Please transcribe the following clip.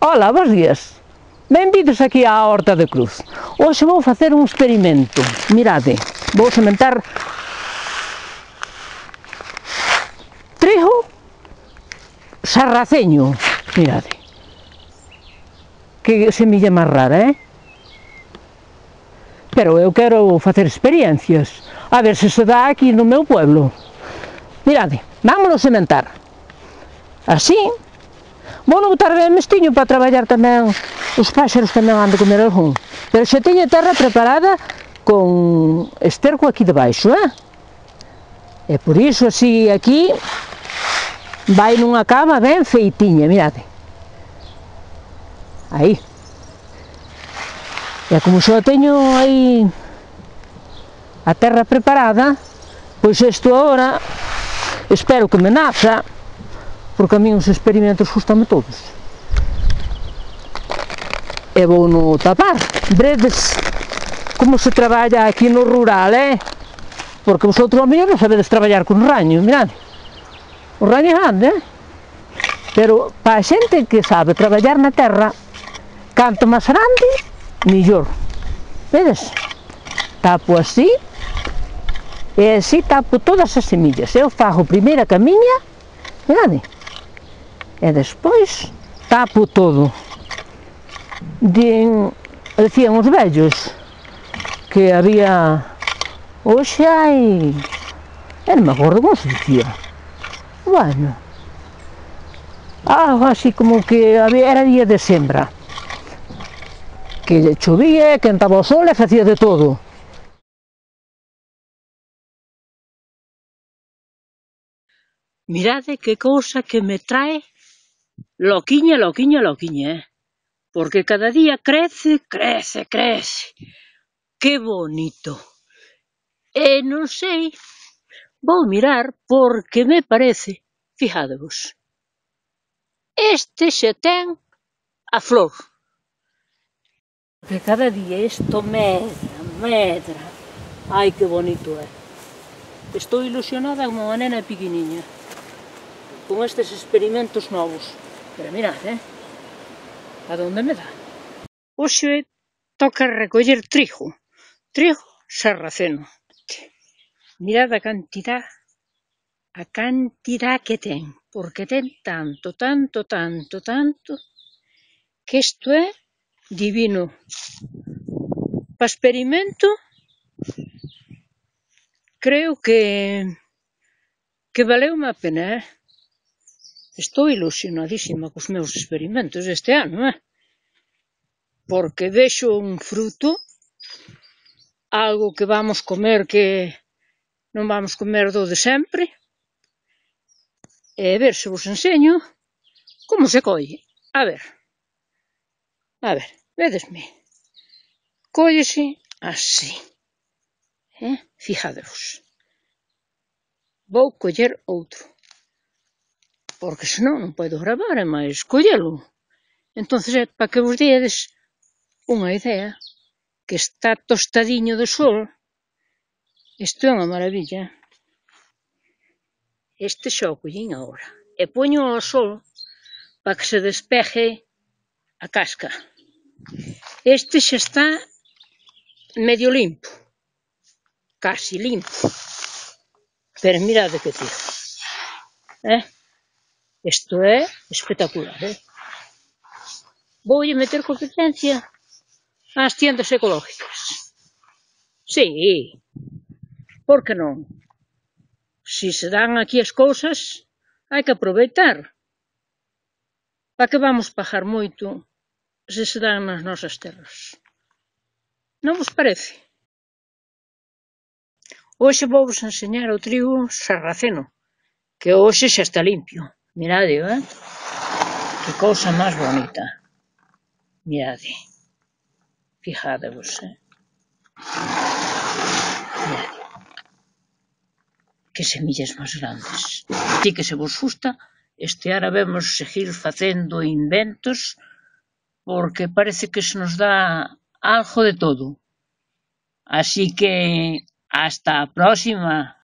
Ola, bos días. Benvidos aquí á Horta de Cruz. Hoxe vou facer un experimento. Mirade, vou sementar trigo sarraceño. Mirade. Que semilla máis rara, Pero eu quero facer experiencias. A ver se dá aquí no meu pueblo. Mirade, vámonos sementar. Así. Vou non botar ben mestiño para traballar tamén, os páxaros tamén han de comer algún. Pero xa teño a terra preparada con esterco aquí debaixo, E por iso así aquí vai nunha cama ben feitiña, mirade. Aí. E como xa teño aí a terra preparada, pois isto agora espero que me naza, porque a mí os experimentos gustame todos. E vou no tapar. Veredes como se traballa aquí no rural, Porque vosotros ao mellor non sabedes traballar con raño, mirade. O raño é grande, Pero para a xente que sabe traballar na terra, canto máis grande, mellor. Vedes? Tapo así, e así tapo todas as semillas. Eu fago primeiro a camiña, mirade. E despois tapo todo. Decían os vellos que había, hoxe hai, non me acordo como se dicía, bueno, algo así como que era día de sembra, que chovía, que entraba o sol e facía de todo. Mirade que cousa que me trae loquiña, porque cada día crece. Que bonito. E non sei, vou mirar porque me parece, fijadevos, este xa ten a flor. Que cada día isto medra. Ai, que bonito é. Estou ilusionada como unha nena pequeniña con estes experimentos novos. Pero mirad, a donde me dá. Hoxe toca recoller trigo sarraceno. Mirad a cantidad que ten, porque ten tanto, que isto é divino. Para experimento, creo que valeume a pena, Estou ilusionadísima cos meus experimentos este ano, Porque vexo un fruto, algo que vamos comer que non vamos comer do de sempre, e ver se vos enseño como se colle. A ver, vedesme, cóllese así, fijadevos. Vou coller outro, porque senón non podo gravar e máis collelo. Entonces é para que vos dedes unha idea, que está tostadiño de sol. Isto é unha maravilla. Este xa o collín agora. E poño ao sol para que se despeje a casca. Este xa está medio limpo. Casi limpo. Pero mirade que tío. Isto é espectacular, Voulle meter competencia ás tiendas ecológicas. Sí, por que non? Si se dan aquí as cousas, hai que aproveitar. Para que vamos pagar moito se se dan nas nosas terras? Non vos parece? Hoxe vou vos enseñar o trigo sarraceno, que hoxe xa está limpio. Mirade, Que cousa máis bonita. Mirade. Fijadevos, Mirade. Que semillas máis grandes. Así que se vos gusta, este ano vemos seguir facendo inventos, porque parece que se nos dá algo de todo. Así que hasta a próxima.